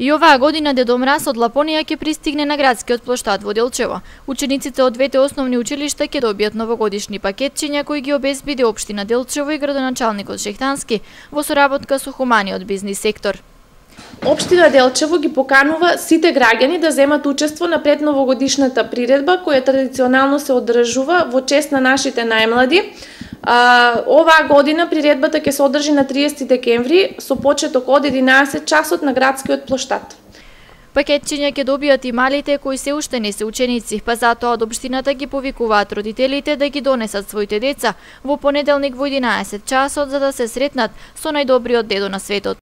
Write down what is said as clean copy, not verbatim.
И оваа година Дедо Мраз од Лапонија ќе пристигне на градскиот плоштад во Делчево. Учениците од двете основни училишта ќе добијат новогодишни пакетчиња кои ги обезбеди општина Делчево и градоначалникот Шехтански во соработка со хуманиот бизнис сектор. Општина Делчево ги поканува сите граѓани да земат учество на предновогодишната приредба која традиционално се одржува во чест на нашите најмлади. Оваа година приредбата ќе се одржи на 30 декември со почеток од 11 часот на градскиот плоштад. Пакетчиња ќе добијат и малите кои се уште не се ученици, па затоа од општината ги повикуваат родителите да ги донесат своите деца во понеделник во 11 часот за да се сретнат со најдобриот дедо на светот.